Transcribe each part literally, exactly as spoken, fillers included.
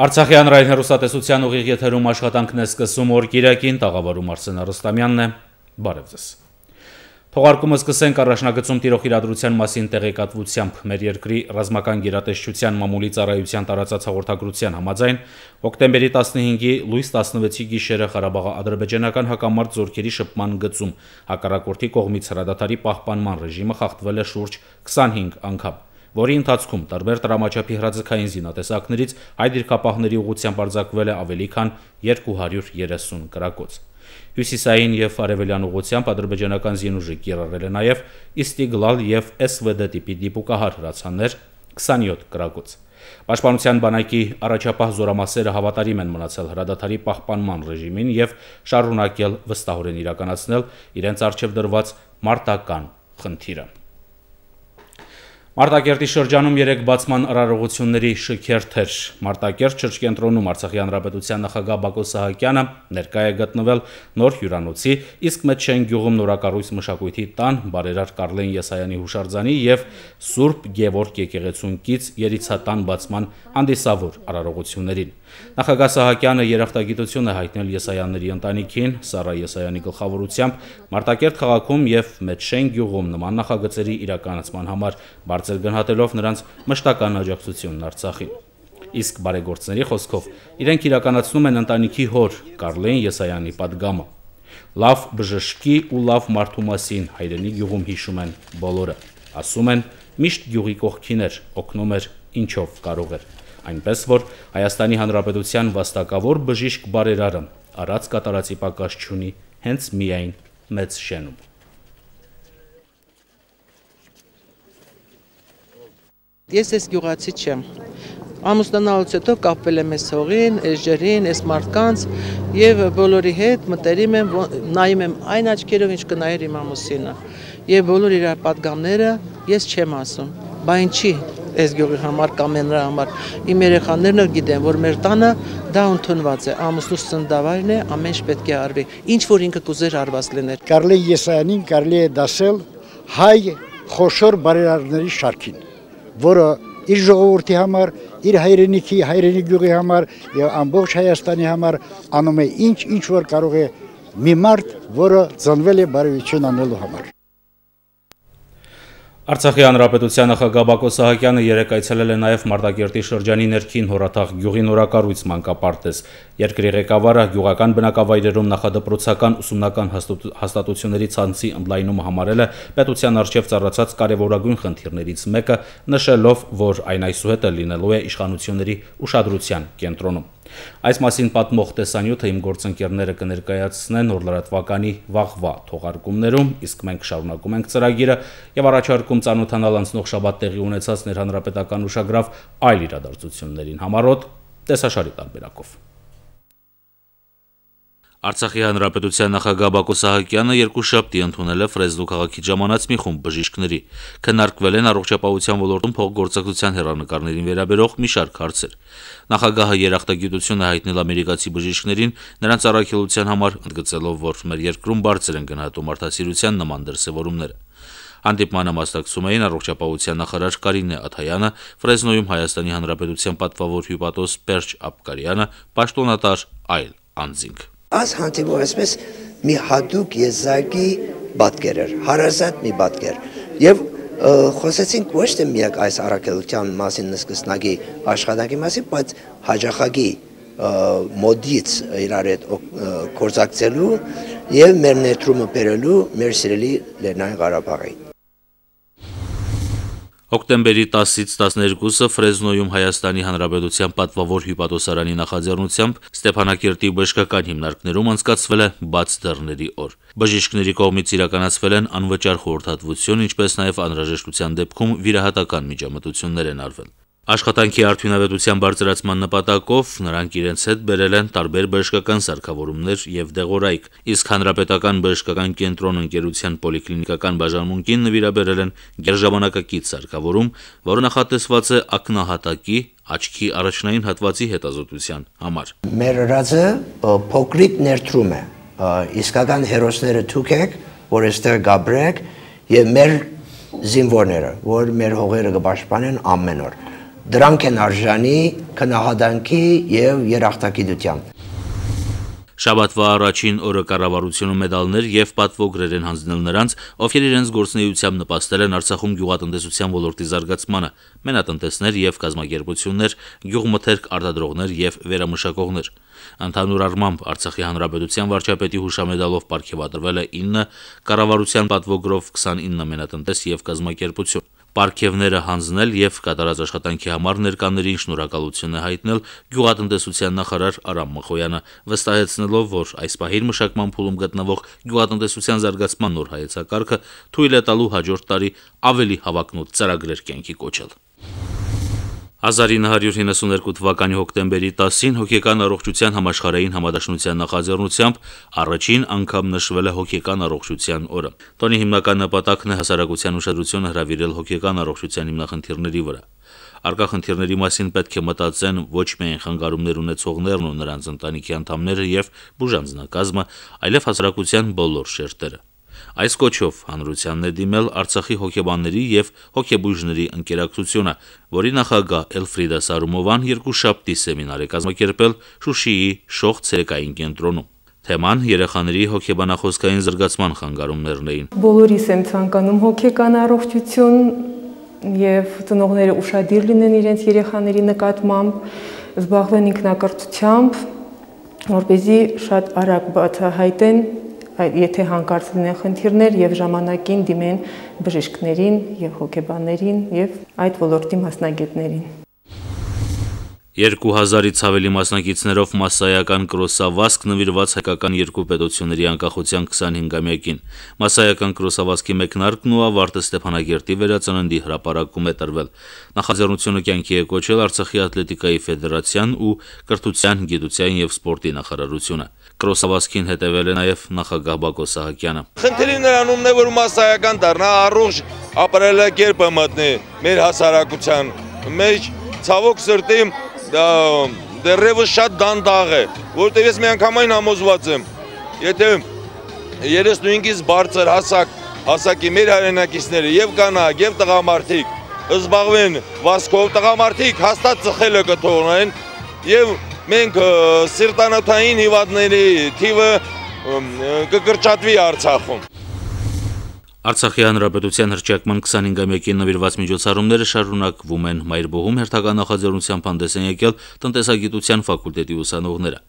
Արցախի հանրային հեռուստատեսության ուղիղ եթերում աշխատանքն է սկսում օրկիրակին, տաղավարում Արսեն Արստամյանն է, բարև ձեզ։ Թողարկումը սկսենք առաջնագծում տիրող իրադրության մասին տեղեկատվությամբ։ Մեր երկրի ռազմական գերատեսչության մամուլի ծառայության տարածած հաղորդագրության համաձայն հոկտեմբերի տասնհինգի լույս տասնվեցի գիշերը Ղարաբաղի ադրբեջանական հակամարտ զորքերի շփման գծում հակառակորդի կողմից հրադադարի պահպանման ռեժիմը խախտվել է շուրջ քսանհինգ անգամ, որի ընթացքում տարբեր տրամաչափի հրաձգային զինատեսակներից հայ դիրքապահների ուղղությամբ արձակվել է ավելի քան երկու հարյուր երեսուն կրակոց։ Հյուսիսային և արևելյան ուղղությամբ ադրբեջանական զինուժը կիրառել է նաև Իստիգլալ և Էս Վե Դե տիպի դիպուկահար հրացաններ քսանյոթ կրակոց։ Պաշտպանության բանակի առաջապահ զորամասերը հավատարիմ են մնացել հրադադարի պահպանման ռեժիմին և շարունակել վստահորեն իրականացնել իրենց առջև դրված մարտական խնդիրը։ Մարտակերտի շրջանում երեք բացման արարողությունների շքերթ էր։ Մարտակերտ շրջկենտրոնում Արցախի հանրապետության նախագահ Բակո Սահակյանը ներկա է գտնվել նոր հյուրանոցի, իսկ Մեջշեն գյուղում նորակառույց մշակույթի տան, բարերար Կարլեն Եսայանի հուշարձանի և Սուրբ Գևորգ եկեղեցունքից երիցատան բացման հանդիսավոր արարողություններին։ Նախագահ Սահակյանը երախտագիտություն է հայտնել Եսայանների ընտանիքին, Սառա Եսայանի գլխավորությամբ Մարտակերտ քաղաքում և Մեջշեն գյուղում նման նախագծերի իրականացման համար բարձր գնահատելով նրանց մշտական աջակցությունն Արցախին։ Իսկ բարեգործների խոսքով իրենք իրականացնում են ընտանիքի հոր Կարլեն Եսայանի պատգամը։ Լավ բժշկի ու լավ մարդու մասին հայրենի գյուղում հիշում են բոլորը։ Ասում են՝ միշտ գյուղի կողքին էր, օգնում էր ինչով կարող էր։ Այնպես որ Հայաստանի Հանրապետության վաստակավոր բժիշկ բարերարը առած կատարածի պակաս չունի հենց միայն մեծ շենում։ Ես ես գյուղացի չեմ։ Ամուսնանալուց հետո կապվել եմ այս հողին, այս ջրին, այս մարդկանց եւ բոլորի հետ մտերիմ եմ, նայում եմ այն աչքերով, ինչ կնայեր իմ ամուսինը։ Եվ բոլոր իր պատգամները ես չեմ ասում։ Բա ինչի այս գյուղի համար կամ նրա համար իմ երեխաներն էլ գիտեն, որ մեր տանը դա ընդունված է, ամուսնուս ծննդավայրն է, ամեն ինչ պետք է արվի, ինչ որ ինքը կուզեր արված լիներ։ Կարլեն Եսայանին կարելի է դասել հայ խոշոր բարերարների շարքին, որը իր ժողովրդի համար, իր հայրենիքի, հայրենի գյուղի համար եւ ամբողջ Հայաստանի համար անում է ինչ ինչ որ կարող է մի մարդ, որը ծնվել է բարեություն անելու համար։ Արցախի հանրապետության նախագահ Բակո Սահակյանը երեկ այցելել է նաև Մարտակերտի շրջանի ներքին Հորաթաղ գյուղի նորակառույց մանկապարտեզ։ Երկրի ղեկավարը գյուղական բնակավայրերում նախադպրոցական ուսումնական հաստատությունների ցանցի ընդլայնումը համարել է պետության առջև ծառացած կարևորագույն խնդիրներից մեկը, նշելով, որ այն այսուհետ լինելու է իշխանությունների ուշադրության կենտրոնում։ Այս մասին պատմող տեսանյութը իմ գործընկերները կներկայացնեն նոր լրատվականի վաղվա թողարկումներում, իսկ մենք շարունակում ենք ծրագիրը եւ առաջարկում ծանոթանալ անցնող շաբաթ տեղի ունեցած ներհանրապետական ուշագրավ այլ իրադարձություններին համառոտ տեսաշարի տարբերակով։ Արցախի հանրապետության նախագահ Բակո Սահակյանը երկուշաբթի ընդունել է Ֆրեզնու քաղաքի ժամանած մի խումբ բժիշկների։ Քննարկվել են առողջապահության ոլորտում փոխգործակցության հեռանկարներին վերաբերող մի շարք հարցեր։ Նախագահը երախտագիտություն է հայտնել ամերիկացի բժիշկներին նրանց առաքելության համար, ընդգծելով, որ մեր երկրում բարձր են գնահատում մարդասիրության նման դրսևորումները։ Հանդիպմանը մասնակցում էին առողջապահության նախարար Կարինե Աթայանը, Ֆրեզնոյում Հայաստանի Հանրապետության պատվավոր հյուպատոս Պերճ Աբկարյանը, պաշտոնատար այլ անձինք։ Այս հանդիպումը այսպես մի հատուկ եզակի պատկեր էր, հարազատ մի պատկեր, եւ խոսեցինք ոչ թե միակ այս առաքելության մասին, նսկսնակի աշխատանքի մասին, բայց հաջախակի մոդից իրար հետ գործակցելու եւ մեր ներդրումը բերելու մեր սիրելի Լեռնային Ղարաբաղին։ Հոկտեմբերի տասից տասներկուսը Ֆրեզնոյում Հայաստանի Հանրապետության պատվավոր հյուպատոսարանի նախաձեռնությամբ Ստեփանակերտի բժշկական հիմնարկներում անցկացվել է բաց դռների օր։ Բժիշկների կողմից իրականացվել են անվճար խորհրդատվություն, ինչպես նաև անհրաժեշտության դեպքում վիրահատական միջամտություններ են արվել։ Աշխատանքի արդյունավետության բարձրացման նպատակով նրանք իրենց հետ բերել են տարբեր բժշկական սարքավորումներ եւ դեղորայք, իսկ Հանրապետական բժշկական կենտրոն ընկերության պոլիկլինիկական բաժանմունքին նվիրաբերել են գերժամանակակից սարքավորում, որը նախատեսված է ակնահատակի, աչքի առաջնային հատվածի հետազոտության համար։ Մեր ռազը փոքրիկ ներդրում է, իսկական հերոսները դուք եք, որ այստեղ գաբրեք եւ մեր զինվորները, որ մեր հողերը կպաշտպանեն ամեն օր։ դրանք են արժանի քնահատանքի եւ երախտագիտության։ Շաբաթվա առաջին օրը կառավարությունը մեդալներ եւ պատվոգրեր են հանձնել նրանց, ովքեր իրենց գործունեությամբ նպաստել են Արցախում գյուղատնտեսության ոլորտի զարգացմանը, մենատնտեսներ եւ կազմակերպություններ, գյուղմթերք արտադրողներ եւ վերամշակողներ։ Ընդհանուր առմամբ Արցախի հանրապետության վարչապետի հուշամեդալով պարգևատրվել է ինը, կառավարության պատվոգրով քսանինը մենատնտես եւ կազմակերպություն։ Պարգևները հանձնել եւ կատարած աշխատանքի համար ներկաներին շնորհակալություն է հայտնել գյուղատնտեսության նախարար Արամ Մխոյանը, վստահեցնելով, որ այս պահին մշակման փուլում գտնվող գյուղատնտեսության զարգացման նոր հայեցակարգը թույլ է տալու հաջորդ տարի ավելի հավակնոտ ծրագրեր կյանքի կոչել։ հազար ինը հարյուր հինգսունութ թվականի հոկտեմբերի տասին հոգեկան առողջության համաշխարհային համադաշնության նախաձեռնությամբ առաջին անգամ նշվել է հոգեկան առողջության օրը։ Տոնի հիմնական նպատակն է հասարակության ուշադրությունը հրավիրել հոգեկան առողջության հիմնախնդիրների վրա։ Արկա խնդիրների մասին պետք է մտածեն ոչ միայն խանգարումներ ունեցողներն ու նրանց ընտանիքի անդամները եւ բուժանձնակազմը, այլև հասարակության բոլոր շերտերը։ Այս կոչով հանրությանն է դիմել Արցախի հոգեբանների եւ հոգեբույժների ընկերակցությունը, որի նախագահ Էլֆրիդա Սարումովան երկուշաբթի սեմինար է կազմակերպել Շուշիի Շոխ ցերեկային կենտրոնում։ Թեման երեխաների հոգեբանախոսքային զարգացման խանգարումներն էին։ Բոլորիս եմ ցանկանում հոգեկան առողջություն եւ ծնողները ուշադիր լինեն իրենց երեխաների նկատմամբ, զբաղվեն ինքնակրթությամբ, որպեսզի շատ արագ բացահայտեն, եթե հանկարծ լինեն խնդիրներ եւ ժամանակին դիմեն բժիշկներին եւ հոգեբաններին եւ այդ ոլորտի մասնագետներին։ երկու հազարից ավելի մասնակիցներով մասսայական կրոսավազք նվիրված հայկական երկու պետությունների անկախության քսանհինգամյակին։ Մասսայական կրոսավազքի մեկնարկն ու ավարտը Ստեփանագերտի վերածննդի հրապարակում է տրվել։ Նախաձեռնությունը կյանքի է կոչել Արցախի ատլետիկայի ֆեդերացիան ու կրթության, գիտության եւ սպորտի նախարարությունը։ Կրոսավազքին հետևել է նաեւ նախագահ Բակո Սահակյանը։ Խնդիրը նրանումն է, որ մասսայական դառնա, առողջ ապրելակերպը մտնի մեր հասարակության մեջ, ցավոք սրտի դեռևս շատ դանդաղ է, որտեղ ես միանգամայն համոզված եմ, եթե երեսնուհինգից բարձր հասակ, հասակի մեր հայրենակիցները եւ կանայք եւ տղամարդիկ զբաղվեն վազքով, տղամարդիկ հաստատ ծխելը կթողնեն եւ մենք սիրտանոթային հիվանդների թիվը կկրճատվի Արցախում։ Արցախի հանրապետության հռչակման քսանհինգամյակին նվիրված միջոցառումները շարունակվում են։ Մայրբոհում հերթական նախաձեռնությամբ հանդես են եկել տնտեսագիտության ֆակուլտետի ուսանողները։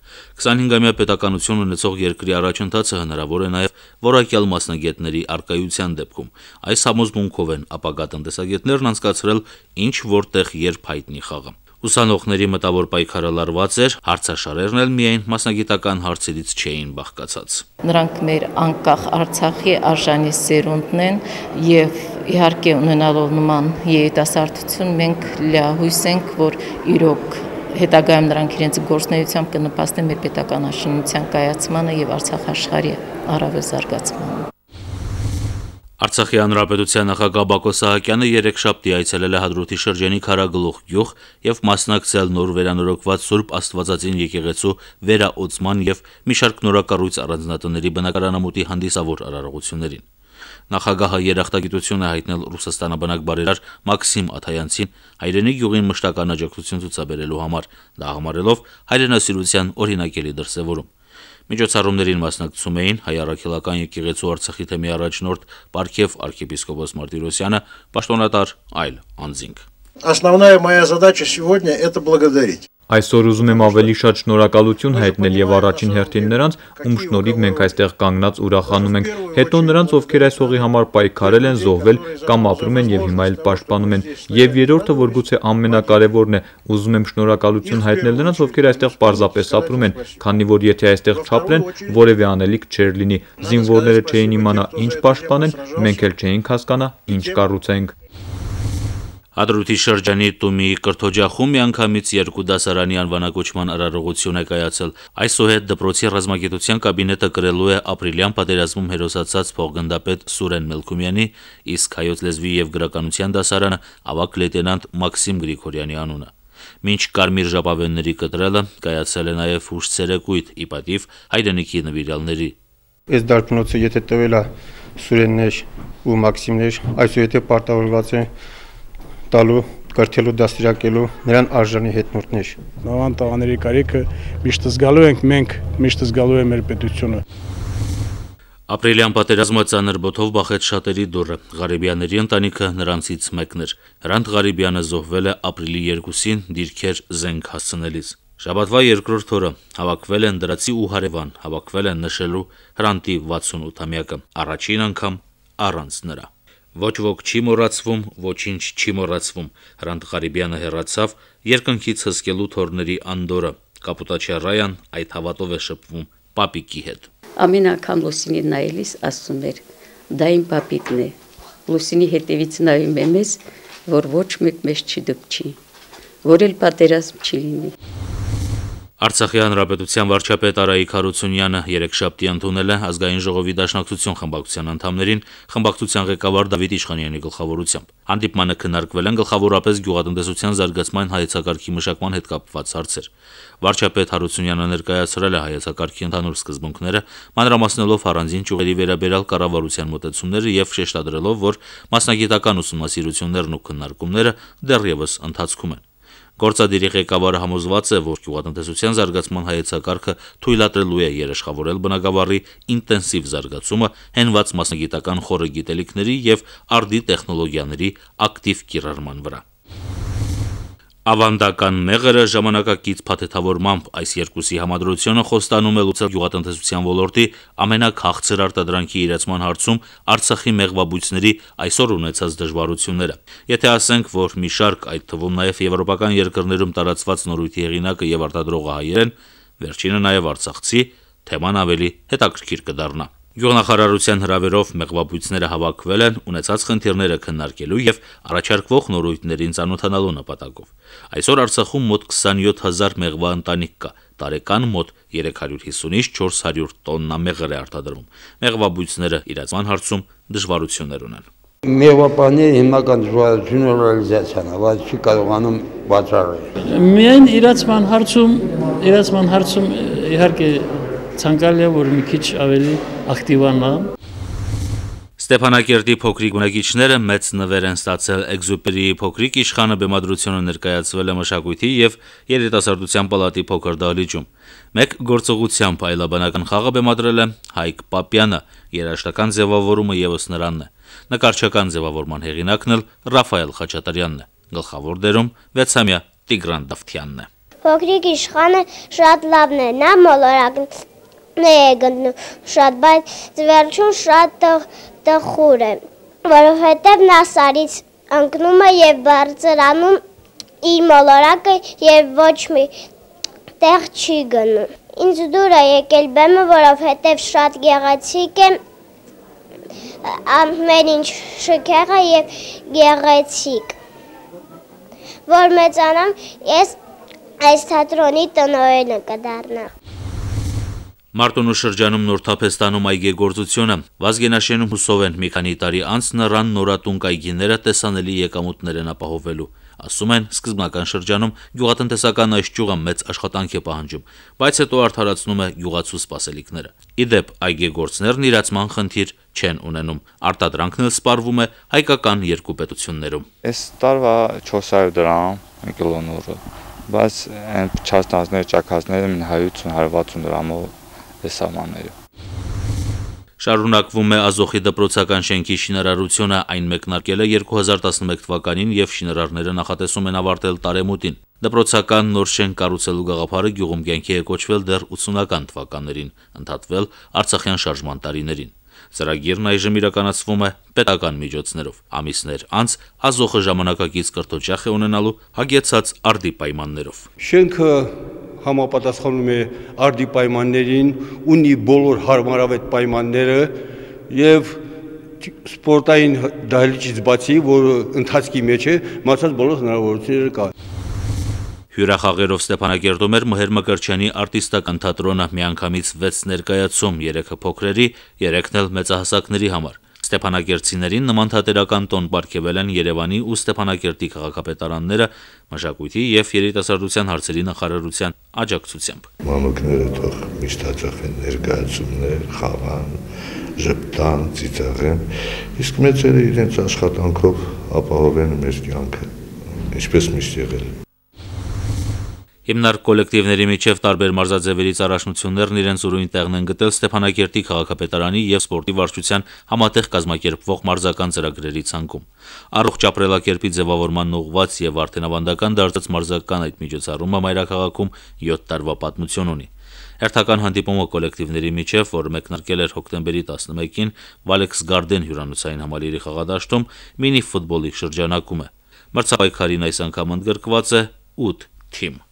քսանհինգամյա պետականություն ունեցող երկրի առաջընթացը հնարավոր է նաև որակյալ մասնագետների առկայության դեպքում։ Այս համոզմունքով են ապագա տնտեսագետներն անցկացրել ինչ որտեղ երբ հայտնի խաղը։ Ուսանողների մտավոր պայքարը լարված էր, հարցաշարերն էլ միայն մասնագիտական հարցերից չէին բաղկացած։ Նրանք մեր անկախ Արցախի արժանի սերունդն են եւ իհարկե ունենալով նման երիտասարդություն մենք լիահույս ենք, որ իրոք հետագայում նրանք իրենց գործունեությամբ կնպաստեն մեր պետական աշինության կայացմանը եւ Արցախ աշխարհի առավել զարգացմանը։ Արցախի հանրապետության նախագահ Բակո Սահակյանը երեքշաբթի այցելել է Հադրութի շրջանի Քարագլուխ գյուղ եւ մասնակցել նոր վերանորոգված Սուրբ Աստվածածին եկեղեցու վերաօծման եւ մի շարք նորակառույց առանձնատների բնակարանամուտի հանդիսավոր արարողություններին։ Նախագահը երախտագիտություն է հայտնել Ռուսաստանաբնակ բարերար Մաքսիմ Աթայանցին հայրենի գյուղին մշտական աջակցություն ցուցաբերելու համար, դա համարելով հայրենասիրության օրինակելի դրսևորում։ Միջոցառումներին մասնակցում էին հայ առաքելական եկեղեցու Արցախի թեմի առաջնորդ Պարքև arczepiskopos Մարտիրոսյանը, պաշտոնատար այլ անձինք։ Основная моя задача сегодня это благодарить. Այսօր ուզում եմ ավելի շատ շնորհակալություն հայտնել եւ առաջին հերթին նրանց, ում շնորհիվ մենք այստեղ կանգնած ուրախանում ենք, հետո նրանց, ովքեր այս հողի համար պայքարել են, զոհվել կամ ապրում են եւ հիմա էլ պաշտպանում են, եւ երրորդը, որ գուցե ամենակարևորն է, ուզում եմ շնորհակալություն հայտնել նրանց, ովքեր այստեղ պարզապես ապրում են, քանի որ եթե այստեղ չապրեն, որևէ անելիք չէր լինի, զինվորները չէին իմանա ինչ պաշտպանեն, մենք էլ չէինք հասկանա ինչ կառուցենք։ Հադրութի շրջանի Տումիի կրթօջախում միանգամից երկու դասարանի անվանակոչման արարողություն է կայացել։ Այսուհետ դպրոցի ռազմագիտության կաբինետը կրելու է ապրիլյան պատերազմում հերոսացած փոխգնդապետ Սուրեն Մելքումյանի, իսկ հայոց լեզվի եւ գրականության դասարանը ավագ լեյտենանտ Մաքսիմ Գրիգորյանի անունը։ Մինչ կարմիր ժապավենների կտրելը կայացել է նաև հուշ-ցերեկույթ ի պատիվ հայրենիքի նվիրյալների։ Այս դարբնոցը եթե տվել է Սուրեններ ու Մաքսիմներ, այսուհետ պարտավորված է տալու կրթելու դաստիարակելու նրան արժանի հետնորդներ։ Նավան տղաների կարիքը միշտ զգալու ենք մենք, միշտ զգալու է մեր պետությունը։ Ապրիլյան պատերազմը ծանր բոթով բախեց շատերի դուռը։ Ղարիբյանների ընտանիքը նրանցից մեկն էր։ Հրանտ Ղարիբյանը զոհվել է ապրիլի երկուսին դիրքեր զենք հասցնելիս։ Շաբաթվա երկրորդ օրը հավաքվել են դրացի ու հարևան, հավաքվել են նշելու Հրանտի վաթսունութամյակը, առաջին անգամ առանց նրա։ Ոչ ոք չի մոռացվում, ոչինչ չի մոռացվում։ Հրանտ Ղարիբյանը հեռացավ երկնքից հսկելու թորների անդորը։ Կապուտաչարայան այդ հավատով է շփվում պապիկի հետ։ Ամեն անգամ Լուսինին նայելիս ասում էր. դա իմ պապիկն է։ Լուսինի հետևից նայում եմ ես, որ ոչ մեկ մեզ չի դպչի, որ էլ պատերազմ չի լինի։ Արցախի հանրապետության վարչապետ Արայիկ Հարությունյանը երեքշաբթի ընդունել է ազգային ժողովի դաշնակցություն խմբակցության անդամներին խմբակցության ղեկավար Դավիթ Իշխանյանի գլխավորությամբ։ Հանդիպմանը քննարկվել են գլխավորապես գյուղատնտեսության զարգացման հայեցակարգի մշակման հետ կապված հարցեր։ Վարչապետ Հարությունյանը ներկայացրել է հայեցակարգի ընդհանուր սկզբունքները, մանրամասնելով առանձին ճյուղերի վերաբերյալ կառավարության մոտեցումները եւ շեշտադրելով, որ մասնագիտական ուսումնասիրություններն ու քննարկումները դեռևս ընթացքում են։ Գործադիրի ղեկավարը համոզված է, որ գյուղատնտեսության զարգացման հայեցակարգը թույլատրելու է երաշխավորել բնագավառի ինտենսիվ զարգացումը, հենված մասնագիտական խորը գիտելիքների եւ արդի տեխնոլոգիաների ակտիվ կիրառման վրա։ Ավանդական մեղրը ժամանակակից փաթեթավորմամբ այս երկուսի համադրությունը խոստանում է լուծել գյուղատնտեսության ոլորտի ամենաքաղցր արտադրանքի իրացման հարցում Արցախի մեղվաբույծների այսօր ունեցած դժվարությունները։ Եթե ասենք, որ մի շարք, այդ թվում նաև եվրոպական երկրներում տարածված նորույթի հեղինակը եւ արտադրողը հայեր են, վերջինը նաև արցախցի, թեման ավելի հետաքրքիր կդառնա։ Գյուղնախարարության հրավերով մեղվաբույծները հավաքվել են ունեցած խնդիրները քննարկելու եւ առաջարկվող նորույթներին ծանոթանալու նպատակով։ Այսօր Արցախում մոտ քսանյոթ հազար մեղվա ընտանիք կա, տարեկան մոտ երեք հարյուր հիսունից չորս հարյուր տոննա մեղր է արտադրվում։ Մեղվաբույծները իրացման հարցում դժվարություններ ունեն։ Մեղվապահների հիմնական դժվարությունը ռեալիզացիան է, բայց չի կարողանում բացառել։ Միայն իրացման հարցում, իրացման հարցում իհարկե ցանկալի է, որ մի քիչ ավելի ակտիվանա։ Ստեփանակերտի փոքրիկ բնակիչները մեծ նվեր են ստացել Էքզուպերիի փոքրիկ իշխանը բեմադրությունը ներկայացվել է մշակույթի եւ երիտասարդության պալատի փոքր դահլիճում։ Մեկ գործողությամբ այլաբանական խաղը բեմադրել է Հայկ Պապյանը, երաժշտական ձևավորումը եւս նրանն է։ Նկարչական ձևավորման հեղինակն էլ Ռաֆայել Խաչատրյանն է։ Գլխավոր դերում վեցամյա Տիգրան Դավթյանն է։ Փոքրիկ իշխանը շատ լավն է, նա մոլորակն է գտնում շատ, բայց վերջում շատ տխուր է, որովհետև նա սարից ընկնում է եւ բարձրանում իր մոլորակը եւ ոչ մի տեղ չի գնում։ Ինձ դուր է եկել բեմը, որովհետև շատ գեղեցիկ է, ամեն ինչ շքեղ է եւ գեղեցիկ։ Որ մեծանամ, ես այս թատրոնի տնօրենը կդառնա։ Մարտունու շրջանում նոր թափ է ստանում այգեգործությունը։ Վազգենաշենում հուսով են մի քանի տարի անց նրան նորատունկ այգիները տեսանելի եկամուտներ են ապահովելու։ Ասում են, սկզբնական շրջանում գյուղատնտեսական այս ճյուղը մեծ աշխատանք է պահանջում, բայց հետո արդարացնում է գյուղացու սպասելիքները։ Իդեպ այգեգործներն իրացման խնդիր չեն ունենում։ Արտադրանքն էլ սպառվում է հայկական երկու պետություններում։ Այս տարվա չորս հարյուր դրամ մի կիլոնորը, բայց այն չաստանցները, ճաքածները հարյուր հարյուր վաթսուն դրամով սահմանները։ Շարունակվում է Ազոխի դպրոցական շենքի շինարարությունը, այն մեկնարկել է երկու հազար տասնմեկ թվականին եւ շինարարները նախատեսում են ավարտել տարեմուտին։ Դպրոցական նոր շենք կառուցելու գաղափարը գյուղում կյանքի է կոչվել դեռ ութսունական թվականներին, ընդհատվել Արցախյան շարժման տարիներին։ Ծրագիրն այժմ իրականացվում է պետական միջոցներով։ Ամիսներ անց Ազոխը ժամանակակից կրթօջախ է ունենալու հագեցած արդի պայմաններով։ Շենքը համապատասխանում է արդի պայմաններին, ունի բոլոր հարմարավետ պայմանները եւ սպորտային դահլիճից բացի, որ ընթացքի մեջ է, մնացած բոլոր հնարավորությունները կա։ Հյուրախաղերով Ստեփանակերտում էր Մհեր Մկրտչյանի արտիստական թատրոնը, միանգամից վեց ներկայացում, երեքը փոքրերի, երեքն էլ մեծահասակների համար։ Ստեփանակերտցիներին նման թատերական տոն պարգևել են Երևանի ու Ստեփանակերտի քաղաքապետարանները մշակույթի եւ երիտասարդության հարցերի նախարարության աջակցությամբ։ Մանուկները թող միշտ հաճախեն ներկայացումներ, խաղան, ժպտան, ծիծաղեն, իսկ մեծերը իրենց աշխատանքով ապահովեն մեր կյանքը։ ինչպես միշտ եղել։ Հիմնարկ կոլեկտիվների միջև տարբեր մարզաձևերից առաջնություններն իրենց ուրույն տեղն են գտել Ստեփանակերտի քաղաքապետարանի եւ սպորտի վարչության համատեղ կազմակերպվող մարզական ծրագրերի ցանկում։ Առողջ ապրելակերպի ձևավորման ուղղված եւ արդյունավանդական դարձած մարզական այդ միջոցառումը մայրաքաղաքում յոթ տարվա պատմություն ունի։ Հերթական հանդիպումը կոլեկտիվների միջև, որը մեկնարկել էր հոկտեմբերի տասնմեկին Վալեքս Գարդեն հյուրանոցային համալիրի խաղադաշտում, մինի ֆուտբոլի շրջանակում է։ Մրցապայքարին այս անգամ ընդգրկված է ութ թիմ։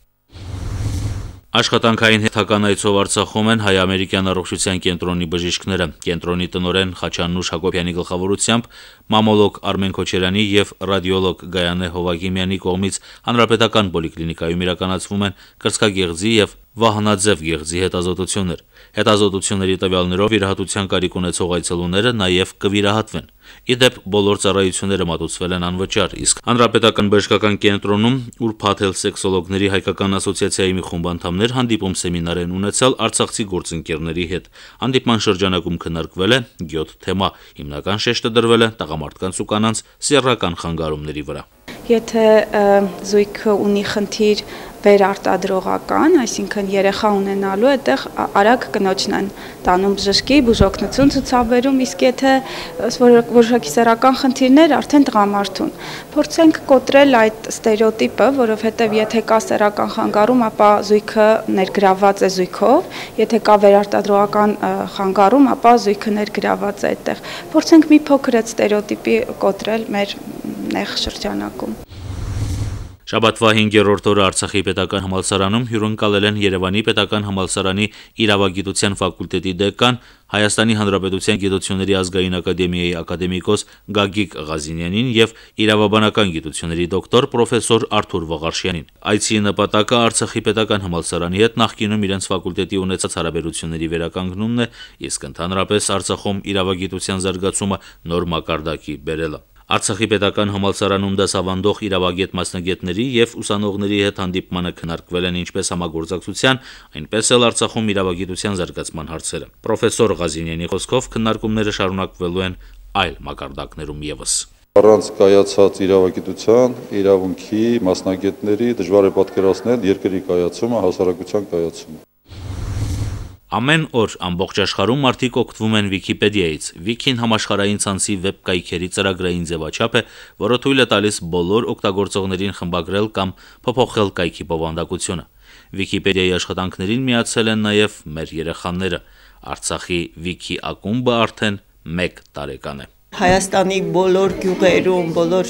Աշխատանքային հերթական այցով Արցախում են հայ-ամերիկյան առողջության կենտրոնի բժիշկները։ Կենտրոնի տնօրեն Խաչանուշ Հակոբյանի գլխավորությամբ մամոլոգ Արմեն Քոչարյանի եւ ռադիոլոգ Գայանե Հովագիմյանի կողմից հանրապետական պոլիկլինիկայում իրականացվում են կրծքագեղձի եւ վահանաձև գեղձի հետազոտություններ։ Հետազոտությունների տվյալներով վիրահատության կարիք ունեցող այցելուները նաև կվիրահատվեն։ Իդեպ բոլոր ծառայությունները մատուցվել են անվճար, իսկ հանրապետական բժշկական կենտրոնում ուրբաթ սեքսոլոգների հայկական ասոցիացիայի մի խումբ անդամներ հանդիպում սեմինար են ունեցել արցախցի գործընկերների հետ։ Հանդիպման շրջանակում քննարկվել է յոթ թեմա։ Հիմնական շեշտը դրվել է տղամարդկանց ու կանանց սեռական խանգարումների վրա։ Եթե զույգը ունի խնդիր վերարտադրողական, այսինքն երեխա ունենալու, այդտեղ արագ կնոջն են տանում բժշկի, բուժօգնություն ցուցաբերում, իսկ եթե որոշակի սեռական խնդիրներ, արդեն տղամարդուն։ Փորձենք կոտրել այդ ստերեոտիպը, որովհետև եթե կա սեռական խանգարում, ապա զույգը ներգրավված է զույգով, եթե կա վերարտադրողական խանգարում, ապա զույգը ներգրավված է այդտեղ։ Փորձենք մի փոքր այդ ստերեոտիպի կոտրել մեր նեղ շրջանակում։ Շաբաթվա հինգերորդ օրը Արցախի պետական համալսարանում հյուրընկալել են Երևանի պետական համալսարանի իրավագիտության ֆակուլտետի դեկան, Հայաստանի Հանրապետության գիտությունների ազգային ակադեմիայի ակադեմիկոս Գագիկ Ղազինյանին եւ իրավաբանական գիտությունների դոկտոր պրոֆեսոր Արթուր Վաղարշյանին։ Այցի նպատակը Արցախի պետական համալսարանի հետ նախկինում իրենց ֆակուլտետի ունեցած հարաբերությունների վերականգնումն է, իսկ ընդհանրապես Արցախում իրավագիտության զարգացումը նոր մակարդակի բերելը։ Արցախի պետական համալսարանում դասավանդող իրավագետ մասնագետների եւ ուսանողների հետ հանդիպմանը քննարկվել են ինչպես համագործակցության, այնպես էլ Արցախում իրավագիտության զարգացման հարցերը։ Պրոֆեսոր Ղազինյանի խոսքով քննարկումները շարունակվելու են այլ մակարդակներում եւս։ Առանց կայացած իրավագիտության, իրավունքի, մասնագետների դժվար է պատկերացնել երկրի կայացումը, հասարակության կայացումը։ Ամեն օր ամբողջ աշխարհում մարդիկ օգտվում են Վիկիպեդիայից։ Վիկին համաշխարհային ցանցի վեբ կայքերի ծրագրային ձևաչափ է, որը թույլ է տալիս բոլոր օգտագործողներին խմբագրել կամ փոփոխել կայքի բովանդակությունը։ Վիկիպեդիայի աշխատանքներին միացել են նաև մեր երեխաները։ Արցախի Վիկի ակումբը արդեն մեկ տարեկան է։ Հայաստանի բոլոր գյուղերում, բոլոր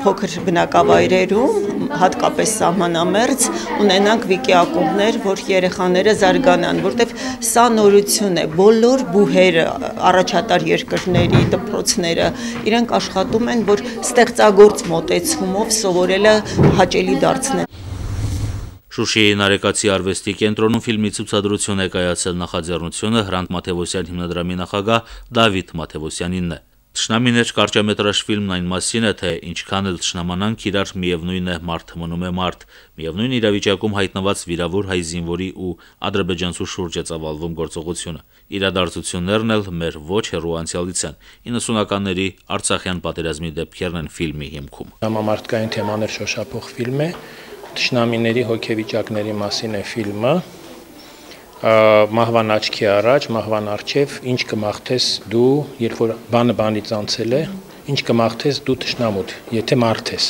փոքր բնակավայրերում, հատկապես սահմանամերձ, ունենանք վիկի ակումբներ, որ երեխաները զարգանան, որտեղ սա նորություն է, բոլոր բուհերը, առաջատար երկրների, դպրոցները, իրենք աշխատում են, որ ստեղծագործ մոտեցումով սովորելը հաճելի դարձնեն։ Շուշիի Նարեկացի արվեստի կենտրոնում ֆիլմի ցուցադրություն է կայացել նախաձեռնությունը Հրանտ Մաթևոսյան հիմնադրամի նախագահ Դավիթ Մաթևոսյանինն է։ Թշնամիներ կարճամետրաժ ֆիլմն այն մասին է, թե ինչքան էլ թշնամանանք իրար միևնույն է մարդ մնում է մարդ, միևնույն իրավիճակում հայտնված վիրավոր հայ զինվորի ու ադրբեջանցու շուրջ է ծավալվում գործողությունը։ Իրադարձություններն էլ մեր ոչ հեռու անցյալից են։ իննսունականների Արցախյան պատերազմի դեպքերն են ֆիլմի հիմքում։ Համամարտկային թեմաներ շոշափող ֆիլմ է, թշնամիների հոգեվիճակների մասին է ֆիլմը։ Մահվան աչքի առաջ, մահվան առջև, ինչ կմաղթես դու, երբ որ բանը բանից անցել է, ինչ կմաղթես դու թշնամուդ, եթե մարդ ես։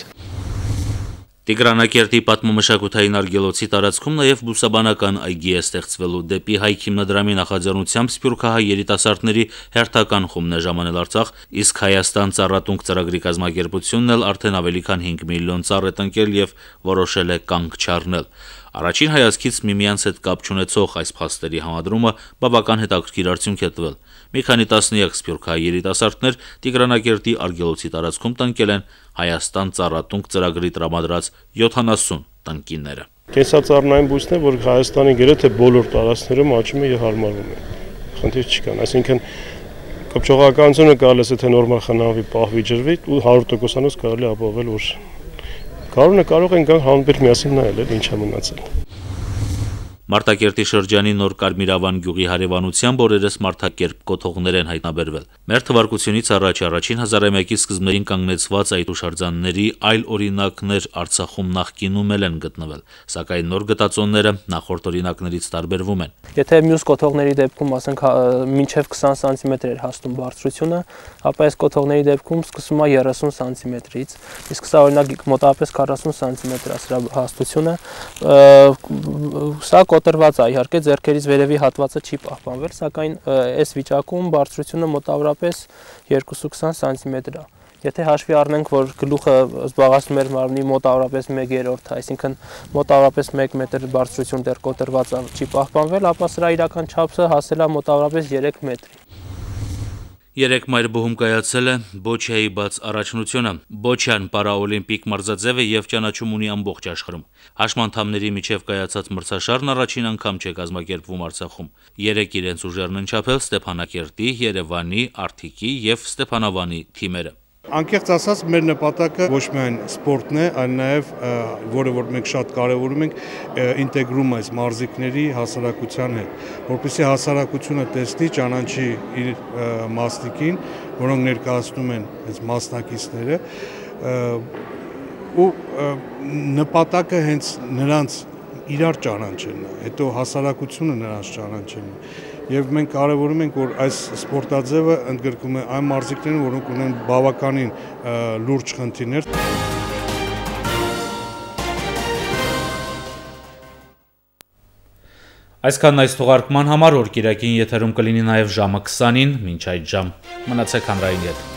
Տիգրանակերտի պատմամշակութային արգելոցի տարածքում նաև բուսաբանական այգի է ստեղծվելու դեպի Հայք հիմնադրամի նախաձեռնությամբ սփյուռքահայ երիտասարդների հերթական խումբն է ժամանել Արցախ, իսկ Հայաստան ծառատունք ծրագրի կազմակերպությունն էլ արդեն ավելի քան հինգ միլիոն ծառ է տնկել եւ որոշել է կանգ չառնել։ Առաջին հայացքից միմյանց հետ կապ չունեցող այս փաստերի համադրումը բավական հետաքրքիր արդյունք է տվել։ Մի քանի տասնյակ սփյուռքահայ երիտասարդներ Տիգրանակերտի արգելոցի տարածքում տնկել են Հայաստան ծառատունք ծրագրի տրամադրած յոթանասուն տնկիները։ Կենսածառնային բույսն է, որ Հայաստանի գրեթե բոլոր տարածքներում աճում է եւ հարմարվում է։ Խնդիր չկան, այսինքն կոփչողականությունը կարելի է թե նորմալ խնամվի, պահվի, ջրվի ու հարյուր տոկոսանոց կարելի ապահովել, որ Կարողն է կարող են գալ հանբեր միասին նայել, ինչա մնացել։ Մարտակերտի շրջանի Նոր Կարմիրավան գյուղի հարևանությամբ օրերս մարդակերպ կոթողներ են հայտնաբերվել։ Մեր թվարկությունից առաջ առաջին հազարամյակի սկզբներին կանգնեցված այդ հուշարձանների այլ օրինակներ Արցախում նախկինում էլ են գտնվել, սակայն նոր գտածոնները նախորդ օրինակներից տարբերվում են։ Եթե մյուս կոթողների դեպքում ասենք մինչև քսան սանտիմետր էր հասնում բարձրությունը, ապա այս կոթողների դեպքում սկսում է երեսուն սանտիմետրից, իսկ սա օրինակ մոտավորապես քառասուն սանտիմետր է սրա հաստությունը։ Սա կոտրված է, իհարկե ձեռքերից վերևի հատվածը չի պահպանվել, սակայն այս վիճակում բարձրությունը մոտավորապես երկուսուն քսան սանտիմետր է։ Եթե հաշվի առնենք, որ գլուխը զբաղեցնում էր մարմնի մոտավորապես մեկ երրորդ, այսինքն մոտավորապես մեկ մետր բարձրություն դեռ կոտրված չի պահպանվել, ապա սրա իրական չափսը հասել է մոտավորապես երեք մետրի։ Երեք մայրբուհում կայացել է Բոչիայի բաց առաջնությունը։ Բոչիան պարաօլիմպիկ մարզաձև է եւ ճանաչում ունի ամբողջ աշխարհում։ Հաշմանդամների միջև կայացած մրցաշարն առաջին անգամ չէ կազմակերպվում Արցախում։ Երեք իրենց ուժերն են չափել Ստեփանակերտի, Երևանի, Արթիկի եւ Ստեփանավանի թիմերը։ Անկեղծ ասած, մեր նպատակը ոչ միայն սպորտն է, այլ նաև, որը որ մենք շատ կարևորում ենք, ինտեգրումը այս մարզիկների հասարակության հետ, որպեսզի հասարակությունը տեսնի, ճանաչի իր մասնիկին, որոնք ներկայացնում են այս մասնակիցները, ու նպատակը հենց նրանց իրար ճանաչելն է, հետո հասարակությունը նրանց ճանաչելն է։ Եվ մենք կարևորում ենք, որ այս սպորտաձևը ընդգրկում է այն մարզիկներին, որոնք ունեն բավականին լուրջ խնդիրներ։ Այսքանն այս թողարկման համար, որ կիրակին եթերում կլինի նաև ժամը քսանին, մինչ այդ ժամ մնացեք հանրային հետ։